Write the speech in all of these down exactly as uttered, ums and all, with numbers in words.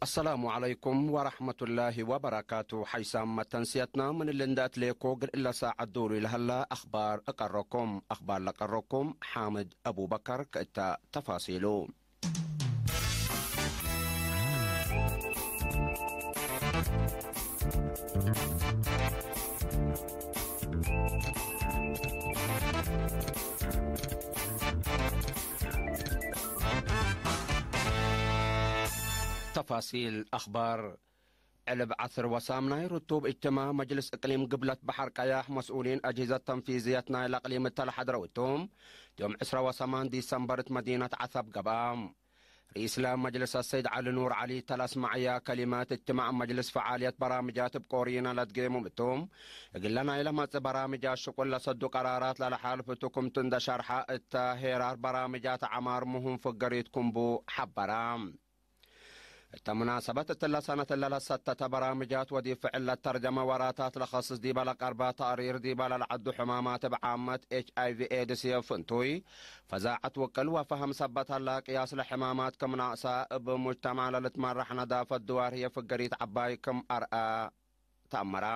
አሰላሙ ዐለይኩም ወረሕመቱላሂ ወበረካቱ። ሐይሳም መተንስየትና ምን እሊ እንደ አትሌኮ እግል እለ ሳዐት ዶሉ ለሀላ አኽባር እቀረኩም። አኽባር ለቀረኩም ሓምድ አቡበከር። ከእተ ተፋሲሉ። ተፋሲል አኽባር። ዕልብ ዐስር ወሳምናይ ርቱብ እጅትማዕ መጅልስ እቅሊም ግብለት በሐር ቀያሕ መስኡሊን አጅሂዘት ተንፊዝየት ናይለ እቅሊም እተ ለሐድረው እቱም፣ ዮም ዕስራ ወሰማን ዲሰምበር እት መዲነት ዐሰብ ገብአ። ርኢስለ መጅልስ አሰይድ ዐሊ ኑር ዐሊ እተ ለአስመዐያ ከሊመት፣ እጅትማዕ መጅልስ ፈዓልየት በራምጃት እብ ቆሪነ ለትጌሙም እቱም፣ እግለ ናይለ መጽእ በራምጃት ሽቁል ለሰዱ ቀራራት ለለሓልፍ እቱ ክምቱ እንደ ሸርሐ፣ እተ ሄራር በራምጃት ዐማር ምሁም ፍገሪት ክምቡ ሐበረ። እተ ሙናሰበት እትለ ሰነት እለ ለሰተተ በራምጃት ወዲብ ፍዕል ለተርጀመ ወራታት ለኸስስ ዲበ ለቀርበ ተቅሪር፣ ዲበ ለልዐዱ ሕማማት እብ ዓመት ኤች አይ ቪ ኤድስ፣ ፍንቱይ፣ ፈዛዐት ውቅል ወፈሀም ሰበት ሀላ፣ ቅያስ ለሕማማት ክም ናቅሰ፣ እብ ሙጅተማዕ ለልትመራሕ ነዳፈት ድዋር ህዬ ፍገሪት ዐባይ ክም አርአ። ተአመረ።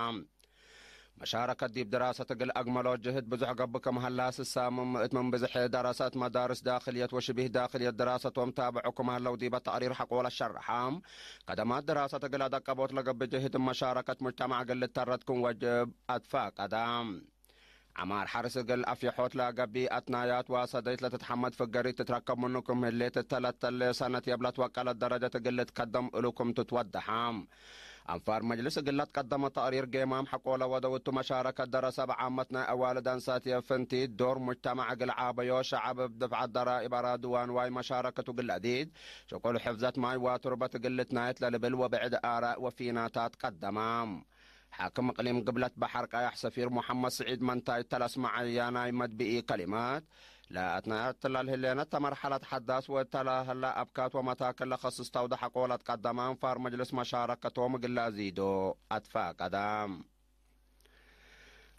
መሻረከት ዲብ ድራሰት እግል አግመሎ ጅህድ ብዙሕ ገብእ ክም ሀላ፣ ስሳምም ምእት ምን ብዝሕ ደረሰት መዳርስ ዳክልየት ወሽቢህ ዳክልየት ድራሰቶም ታብዑ ክም ሀለው ዲበ ተቅሪር ሐቆለ ሸርሐ። ከደማት ድራሰት እግል አደቀቦት ለገብእ ጅህድ መሻረከት ሙጅተማዕ እግል ልተረት ክም ወጅብ አትፋቀደ። ዐማር ሐርስ እግል አፍየሖት ለገብእ አትናያት ወሰደይት ለትትሐመድ ፍገሪት ትትረከብ ምኑ ክም ህሌት፣ እተ ለተሌ ሰነት የብለት ወቀለት ደረጀት እግል ልትከደም እሉ ክም ትትወደሐ። አንፋር መጅልስ እግል ለትቀደመ ተቅሪር ጌማም ሐቆለ ወደው እቱ መሻረከት ደረሰ እብ ዓመት ናይ አዋልድ አንሳትየ ፍንቲት ዶር ሙጅተማዕ እግል ዓበዮ፣ ሸዐብ እብ ድፍዐት ደራኢብ አራዱ ወአንዋይ መሻረከቱ እግል አዲድ፣ ሽቁል ሕፍዘት ማይ ወቱርበት እግል ልትናየት ለልብል ወብዕድ አራእ ወፊናታት ቀደመ። ሓክም እቅሊም ግብለት በሐር ቀያሕ ሰፊር ሙሐመድ ስዒድ መንታይ እተ ለአስመዐያ ናይ መድብኢ ከሊማት፣ ለአትናያት ለልህሌነ እተ መርሐለት ሐዳስ ወእተ ለሀላ አብካት ወመታክል ለከስስ ተውደ ሐቆ ለትቀደመ አንፋር መጅልስ መሻረከቶም እግል ለአዚዶ አትፋቀደ።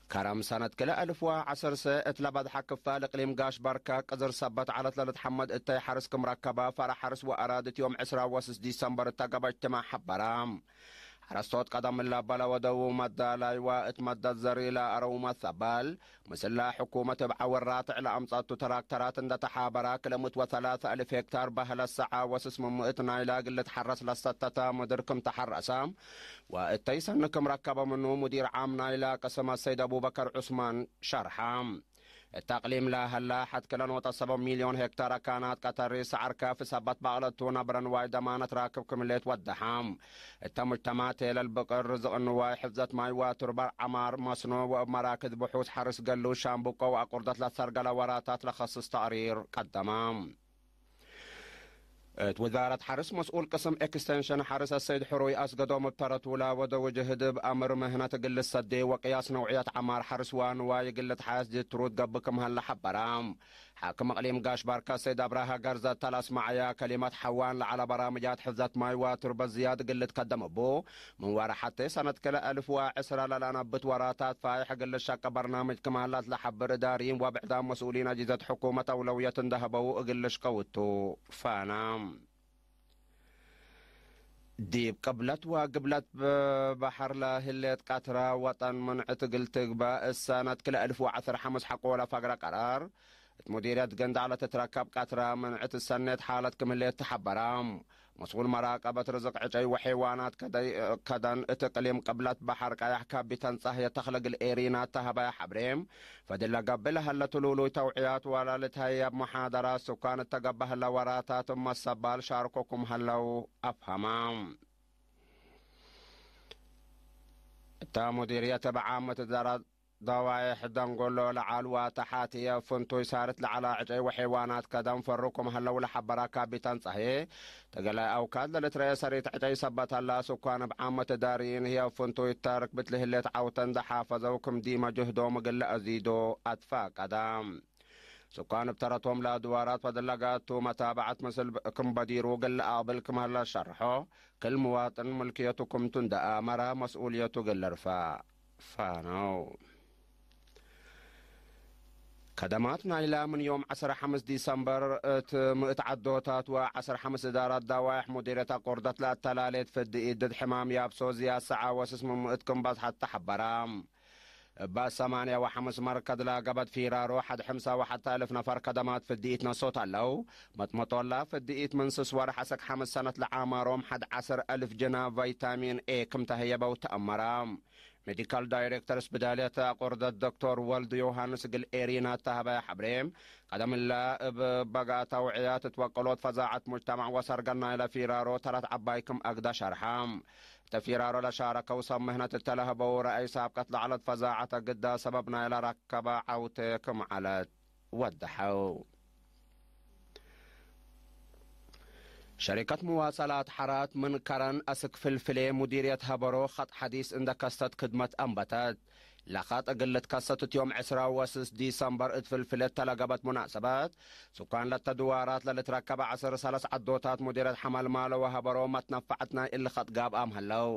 ከረም ሰነት ክልኤ አልፍ ወዐሰርሰ እት ለበድሐ ክፋል እቅሊም ጋሽ በርከ ቅዝር ሰበት ዐለት ለልትሐመድ እተይ ሐርስ ክም ረከበ ፈረ ሐርስ ወአራድት ዮም ዕስራ ወስስ ዲሰምበር እተ ገብአ እጅትማዕ ሐበረ። ሐረስቶት ቀደም እለ በለ ወደው መዳላይ ወእት መደት ዘሪ ለአረው መሰበል፣ ምስለ ሕኩመት እብ ዐውር ራትዕ ለአምጸቱ ትራክተራት እንደ ተሓበረ፣ ክልምት ወሰላሰ አልፍ ሄክታር በህለት ሰዐ ወስስ ምን ምእት ናይለ እግል ልትሐረስ ለሰተተ ምድር ክም ተሐረሰ ወእተይ ሰኒ ክም ረከበ ምኑ፣ ሙዲር ዓም ናይለ ቅስም አሰይድ አቡበከር ዑስማን ሸርሐ። እት አቅሊም ለሀላ ሐድ ክለ ኖጠ ሰበት ሚልዮን ሄክታር አካናት ቀተሪ፣ ሰዐር ካፊ ሰበት በቅለቱ፣ ነብረ ንዋይ ደማነት ራክብ ክም ሌት ወደሐ። እተ ሙጅተማዕ ቴለል ብቅር፣ ርዝቅ ንዋይ፣ ሕፍዘት ማይ ወቱርበ ዐማር፣ መስኖ ወእብ መራክዝ ብሑስ ሐርስ ገሉ፣ ሻምቡቆ ወአቁርደት ለሰርገለ ወራታት ለከስስ ተቅሪር ቀደመ። እት ውዛረት ሐርስ መስኡል ቅስም ኤክስቴንሽን ሐርስ አሰይድ ሕሩይ አስገዶም እብ ተረቱ ለወደው ጅህድ እብ አምር ምህነት እግል ልሰዴ ወቅያስ ነውዕየት ዐማር ሐርስ ወንዋይ እግል ልትሓየስ ጅትሩት ገብእ ክም ሀለ ሐበረ። ሓክም እቅሊም ጋሽ ባርከ ሰይድ አብራሃ ገርዘ እተ ለአስመዐየ ከሊመት ሐዋን ለዐለ በራምጃት ሕፍዘት ማይ ወቱርበት ዝያድ እግል ልትከደም እቡ፣ ምን ወረ ሐቴ ሰነት ክልኤ አልፍ ወዐስረ ለለአነብት ወራታት ፋይሕ እግል ልሸቀ በርናምጅ ክም ሀለ ለሐብር እዳርይን ወብዕዳም መስኡሊን አጅህዘት ሕኩመት አውለውየት እንደ ሀበው እግል ልሽቀው ቱ ፋና። ዲብ ቅብለት ወግብለት በሐር ለህሌት ቀትረ ወጠን ምንዕት እግል ትግበእ እሰነት ክልኤ አልፍ ወዐስር ሐምስ ሐቆለ ፈግረ ቀራር፣ እት ሙዲርየት ገንዳዕ ለትትረከብ ቀትረ ምንዕት እሰኔት ሓለት ክም ህሌት ተሐበረ። መስኡል መራቀበት ርዝቅ ዕጨይ ወሐይዋናት ከደይ-፣ ከደን እት እቅሊም ቅብለት በሐር ቀያሕ ካቢተን ጸህየ ተክለ እግል ኤሪና ተሀበየ ሐብሬ፣ ፈድል ለገብእ ለሀለ ትሉሉይ ተውዕያት ወለልትሀየብ መሓደራት ሱካን እተ ገብአ ህለ ወራታት እብ መሰባል ሻርኮ ክም ሀለው አፍሀመ። እተ ሙዲርየት እብ ዓመት ደረ-፣ ደዋይሕ ደንጎሎ ለዐል ወተሓት ህዬ ፍንቱይ ሳርት ለዐለ ዕጨይ ወሐይዋናት ከደን ፈሩ ክም ሀለው ለሐበረ ካቢተን ጸህየ፣ እግለ አውካድ ለልትረኤ ሰሪት ዕጨይ ሰበት ሀላ ሱካን እብ ዓመት እዳርይን ህዬ ፍንቱይ እተ ርክብት ለህሌት ዐውተ እንደ ሓፈዘው ክም ዲመ ጅህዶም እግል ለአዚዶ አትፋቀደ። ሱካን እብ ተረቶም ለአድዋራት ፈድል ለገአቱ መታብዐት ምስል ክም በዲሩ እግል ለአቅብል ክም ሀለ ሸርሖ፣ ክል ምዋጥን ምልክየቱ ክምቱ እንደ አመረ መስኡልየቱ እግል ልርፈዕ ፋነው። ከደማት ናይላ ምን ዮም ዐስር ሐምስ ዲሰምበር እት ምእት ዐዶታት ወዐስር ሐምስ እዳራት ዳዋይሕ ሙዲርየት አቆርደት ለአተላሌት ፍድኢት ድድ ሕማም ያብሶ ዝያድ ሰዓ ወስስ ምን ምእት ክም በጽሐት ተሐበራ። እበ ሰማንያ ወሐምስ መርከድ ለገበድ ፊራሮ ሐድ ሕምሳ ወሐተ እልፍ ነፈር ከደማት ፍድኢት ነሶት ዐለው። መጥመጦላ ፍድኢት ምን ስስ ወርሕ አሰክ ሐምስ ሰነት ለዓማሮም ሐድ ዐስር እልፍ ጅና ቫይታሚን ኤ ክም ተህየበው ተአመራ። ሜዲካል ዳይሬክተር ስብዳልየት አቆርደት ዶክቶር ወልድ ዮሃንስ እግል ኤሪና እተ ሀበ ሐብሬ፣ ቀደም እለ እብ በጋት አውዕያት እት ወቀሎት ፈዛዐት ሙጅተማዕ ወሰርገል ናይለ ፊራሮ ተረት ዐባይ ክም አግደ ሸርሐ። እተ ፊራሮ ለሻረከው ሰብ ምህነት እተ ለህበው ረአይ ሳብቀት ለዐለት ፈዛዐት እግደ ሰበብ ናይለ ረከበ ዐውቴ ክም ዐለት ወደሐው። ሸሪከት መዋሰላት ሐራት ምን ከረን አስክ ፍልፍሌ ሙዲርየት ሀበሮ ኸጥ ሐዲስ እንደ ከሰት ክድመት አንበተት። ለኸጥ እግል ልትከሰት እት ዮም ዕስራ ወስስ ዲሰምበር እት ፍልፍሌ እተ ለገበት ሙናሰበት፣ ሱካን ለተ ድዋራት ለልትረከበ ዐስር ሰለስ ዐዶታት ሙዲርየት ሐመልማሎ ወሀበሮ መትነፈዐት ናይ እሊ ኸጥ ጋብአም ሀለው።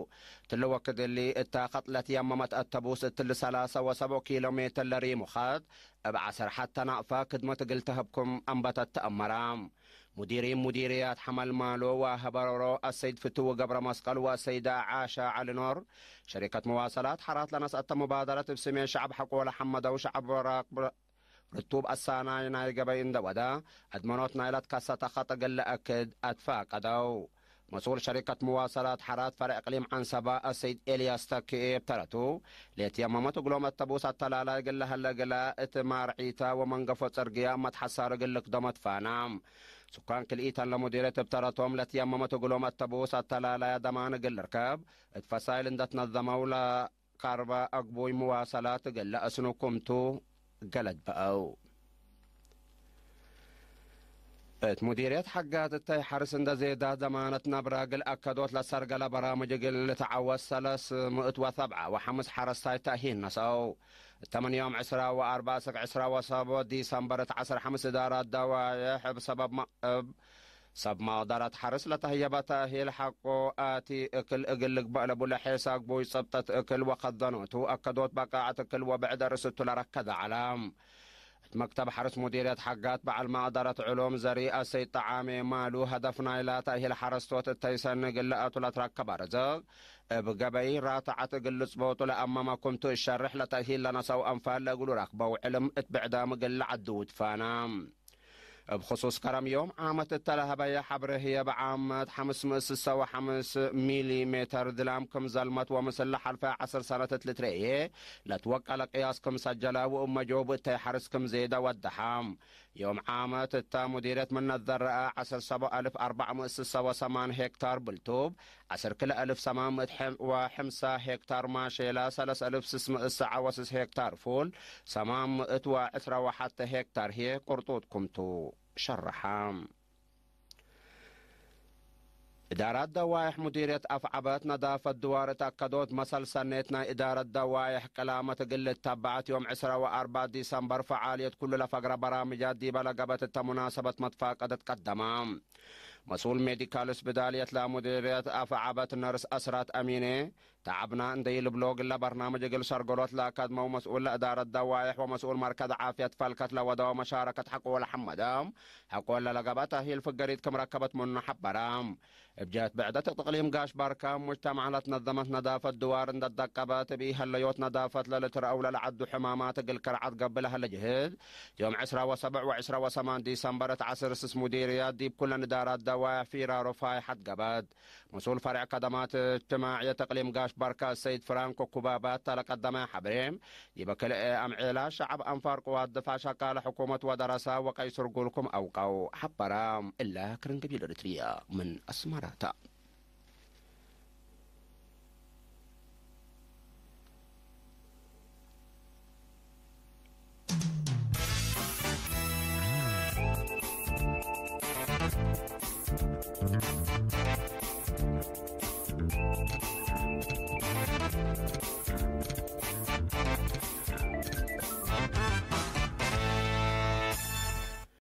ትሊ ወክድ እሊ እተ ኸጥ ለትየመመት አተቡስ እትሊ ሰላሰ ወሰቦ ኪሎ ሜትር ለሪሙ ኸጥ፣ እብ ዐሰር ሐተ ናቅፈ ክድመት እግል ተህብ ክም አንበተት ተአመረ። ሙዲሪን ሙዲርያት ሐመልማሎ ወሀበሮ አሰይድ ፍትው ገብረ መስቀል ወአሰይድ ዓሻ ዐሊ ኖር፣ ሸሪከት መዋሰላት ሐራት ለነስአተ ሙባደረት እብ ስሜ ሸዐብ ሐቆ ለሐመደው ሸዐብ ራክብ ርቱብ አሳናይ ናይ ገበይ እንደ ወደ፣ አድመኖት ናይለ ትከሰተ ኸጥ እግል ለአክድ አትፋቀደው። መስኡል ሸሪከት መዋሰላት ሐራት ፈርዕ እቅሊም ዐንሰበ አሰይድ ኤልያስ ተክኤ እብ ተረቱ፣ ለየትየመመት እግሎም አተቡስ አተላላይ እግል ለሀለ እግለ እት ማርዒተ ወመንገፎ ጽርግያ መትሐሳር እግል ልክደሞ ትፋና። ሱካን ክልኢተን ለሙዲርየት እብ ተረቶም ለትየመመት እግሎም አተቡስ አተላላይ ደማን እግል ልርከብ እት ፈሳይል እንደ ትነዘመው ለ ካርበ አግቡይ መዋሰላት እግል ለአስኑ ክምቱ ገለድ በአው። እት ሙዲርየት ሐጋት እተይ ሐርስ እንደ ዜዳት ደማነት ነብረ እግል አከዶት ለሰርገለ በራምጅ እግል ልትዐወት ሰለስ ምእት ወሰብዐ ወሐምስ ሐረስታይ ተእሂል ነሰአው። እተ ምን ዮም ዕስራ ወአርበዕ እስክ ዕስራ ወሰቦ ዲሰምበር እት ዐስር ሐምስ እዳራት ደዋዬሕ እብ ሰበብ መ-፣ እብ ሰብ መቅደረት ሐርስ ለተህየበ ተእሂል ሐቆ አቲ እክል እግል ልግበእ ለቡ ለሔስ አግቡይ ጽብጠት እክል ወከደኖቱ አከዶት በቃዐት እክል ወብዕድ ርእስቱ ለረከደ ዐለ። እት መክተብ ሐርስ ሙዲርየት ሐጋት በዐል መቅደረት ዕሉም ዘሪ አሰይድ ጠዓሜ ማሉ፣ ሀደፍ ናይላ ተእሂል ሐረስቶት እተይ ሰኒ እግል ለአቱ ለትረከበ ርዝቅ እብ ገበይ ራተዐት እግል ልጽቦጡ ለአመመ ክምቱ እሸርሕ ለተእሂል ለነሰው አንፋል ለእግሉ ረክበው ዕልም እት ብዕዳም እግል ለዐድዉ ትፋና። እብ ክሱስ ከረም ዮም ዓመት እተ ለሀበየ ሐብሬ ህዬ፣ እብ ዓመት ሐምስ ምእት ስሰ ወሐምስ ሚሊ ሜተር ድላም ክም ዘልመት ወምስል ለሐልፈ ዐስር ሰነት እት ልትረኤ ለትወቀለ ቅያስ ክም ሰጀለ ወእብ መጆቡ እተይ ሐርስ ክም ዜደ ወደሐ። ዮም ዓመት እተ ሙዲርየት ምን ነዘረአ ዐስር ሰቦ አልፍ አርበዕ ምእት ስሰ ወሰማን ሄክታር ብልቱብ፣ ዐስር ክለ አልፍ ሰማን ምእት ወሐምሳ ሄክታር ማሼላ፣ ሰለስ አልፍ ስስ ምእት ሰዓ ወስስ ሄክታር ፉል፣ ሰማን ምእት ወዕስራ ወሐተ ሄክታር ህዬ ቅርጡጥ ክምቱ ሸረሐ። እዳራት ደዋይሕ ሙዲርየት አፍዐበት ነዳፈት ድዋር እት አከዶት መሰል ሰኔት ናይ እዳረት ደዋይሕ ቅላመት እግል ልተበዐት ዮም ዕስራ ወአርበዕ ዲሰምበር ፈዓልየት ኩሉ ለፈግረ በራምጃት ዲበ ለገበት እተ ሙናሰበት መትፋቀደት ቀደማ። መስኡል ሜዲካል ስብዳልየት ለሙዲርየት አፍዐበት ነርስ አስራት አሚኔ፣ ተዐብና እንዴ ኢልብሎ፣ እግለ በርናምጅ እግል ሰርገሎት ለአከድመው መስኡል ለእዳረት ደዋይሕ ወመስኡል መርከዝ ዓፍየት ፈልከት ለወደወ መሻረከት ሐቆ ለሐመደ፣ ሐቆ ለለገበ ተእሂል ፍገሪት ክም ረከበት ምኑ ሐበረ። እብ ጀህት ብዕደት እቅሊም ጋሽ ባርካ፣ ሙጅተማዕ ለትነዘመት ነዳፈት ድዋር እንደ ደቀበት፣ እብ ኢሀለዮት ነዳፈት ለልትረአው ለለዐዱ ሕማማት እግል ከርዐት ገብእ ለሀለ ጅህድ፣ ዮም ዕስራ ወሰብዕ ወዕስራ ወሰማን ዲሰምበር እት ዐስር ስስ ሙዲርያት ዲብ ኩለን እዳራት ደዋይሕ ፊራሮ ፋይሐት ገበት። መስኡል ፈርዕ ከደማት እጅትማዕየት እቅሊም ጋሽ ባርካ ሰይድ ፍራንኮ ኩባባት ለቀደመ ሐብሬ፣ ዲበ ክልኤ አምዔላ ሸዐብ አንፋር ቅዋት ድፋዕ ሸቃለ ሕኩመት ወደረሰ ወቀይ ስርጉል ክም አውቀው ሐበረ። እለ ክርን ገቢል ኤሪትርያ ምን አስመራ ተ።